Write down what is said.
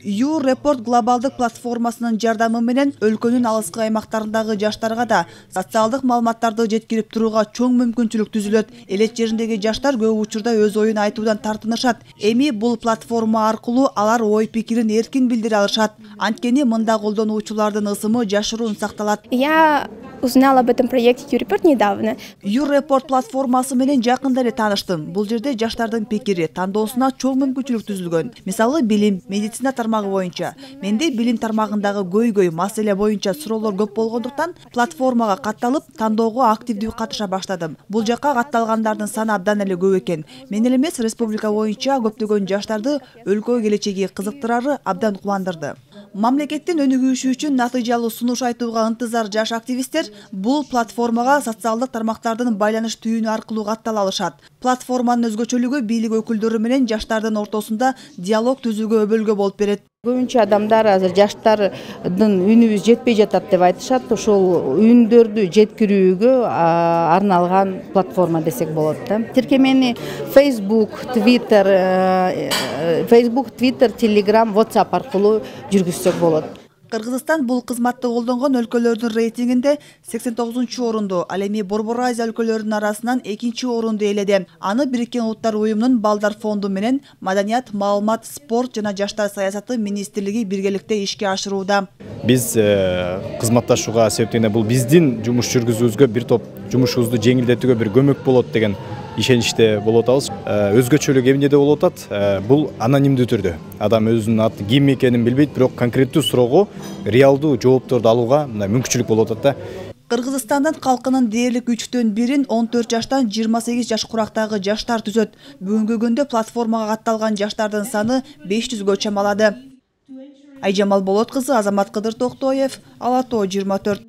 YouReport глобалдык платформасынын жардамы менен өлкөнүн алыскы аймактарындагы жаштарга да социалдык маалыматтарды жеткирип турууга чоң мүмкүнчүлүк түзүлөт. Элет жериндеги жаштар көп учурда өз оюн айтуудан тартынышат. Эми бул платформа аркылуу алар ой пикирин эркин билдире алышат. Анткени мында колдонуучулардын ысымы жашыруун сакталат. Я узнала об этом проекте YouReport недавно. YouReport платформасы менен жакында эле тааныштым. Бул жерде жаштардын пикири, тандоосуна чоң мүмкүнчүлүк түзүлгөн. Мисалы, билим, медицина тармагы боюнча. Менде билим тармагындагы көйгөй маселе боюнча суроолор көп болгондуктан платформага катталып, тандоого активдүү катыша баштадым. Бул жакка катталгандардын саны абдан эле көп экен. Мен эле эмес, республика боюнча көптөгөн жаштарды өлкө келечеги кызыктырары абдан кубандырды. Мамлекеттин өнүгүшү үчүн натыйжалуу сунуш айтууга ынтызар жаш активисттер бул платформага социалдык тармактардын байланыш түйүнү аркылуу каттала алышат. Платформанын өзгөчөлүгү бийлик өкүлдөрү менен жаштардын ортосунда диалог түзүүгө өбөлгө болуп берет. Көбүнчө адамдар азыр жаштардын үнүбүз жетпей жатат деп айтышат. Ошол үндөрдү жеткирүүгө арналган платформа десек болот да. Тиркемени Facebook, Twitter, Telegram, WhatsApp аркылуу жүргүзсөк болот. Кыргызстан бул кызматты колдонгон өлкөлөрдүн рейтингинде 89-орунду, ал эми Борбор Азия өлкөлөрүнүн арасынан 2-чи орунду ээледи. Аны Бириккен Улуттар уюмунун Балдар фонду менен Маданият, маалымат, спорт жана жаштар саясаты министрлиги биргеликте ишке ашырууда. Биз кызматташууга себептене бул биздин жумуш жүргүзүүбүзгө бир топ жумушубузду жеңилдетүүгө бир көмөк болот деген ишеничте болуп атабыз. Өзгөчөлүк эмнеде болуп атат? Бул анонимдүү түрдө. Адам өзүнүн аты ким экенин билбейт, бирок конкреттүү суроого реалдуу жоопторду алууга мүмкүнчүлүк болуп атат да. Кыргызстандын калкынын дээрлик 3/4 14 жаштан 28 жаш курактагы жаштар түзөт. Бүгүнкү күндө платформага катталган жаштардын саны 500гө чамалады. Айжамал Болот кызы, Азамат Кыдыр Токтоев, Ала Тоо 24.